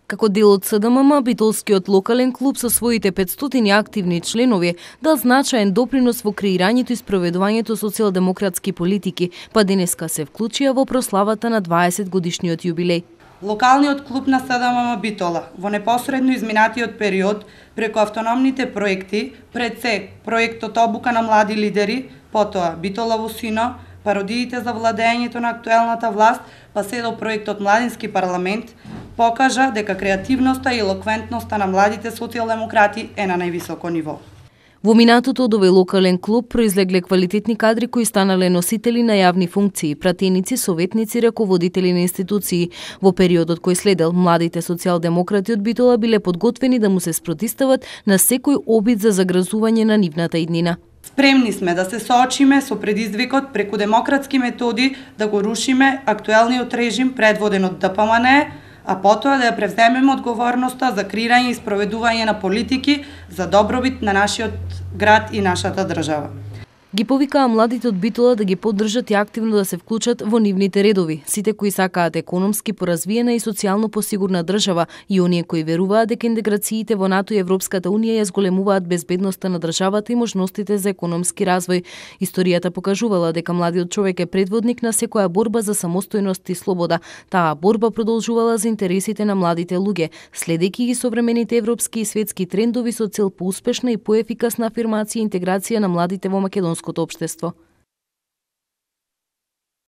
Како дел од СДММ, Битолскиот локален клуб со своите 500 активни членови дал значаен допринос во креирањето и спроведувањето социјалдемократски политики, па денеска се вклучија во прославата на 20 годишниот јубилеј. Локалниот клуб на СДММ Битола во непосредно изминатиот период преку автономните проекти, пред се проектот Обука на млади лидери, потоа Битола во сино, пародиите за владењето на актуелната власт, па се до проектот Младински парламент, покажа дека креативноста и елоквентноста на младите социјалдемократи е на највисоко ниво. Во минатото од овој локален клуб произлегле квалитетни кадри кои станале носители на јавни функции, пратеници, советници, раководители на институции. Во периодот кој следел, младите социјалдемократи од Битола биле подготвени да му се спротистават на секој обид за загразување на нивната иднина. Спремни сме да се соочиме со предизвикот преку демократски методи да го рушиме актуелниот режим предводен од ДПМН, а потоа да ја превземеме одговорноста за креирање и спроведување на политики за добробит на нашиот град и нашата држава. Ги повикаа младите од Битола да ги поддржат и активно да се вклучат во нивните редови, сите кои сакаат економски поразвиена и социјално посигурна држава и оние кои веруваат дека интеграциите во НАТО и Европската Унија ја зголемуваат безбедноста на државата и можностите за економски развој. Историјата покажувала дека младиот човек е предводник на секоја борба за самостојност и слобода. Таа борба продолжувала за интересите на младите луѓе, следејќи ги современите европски и светски трендови со цел поуспешна и поефикасна афирмација и интеграција на младите во македонското општество.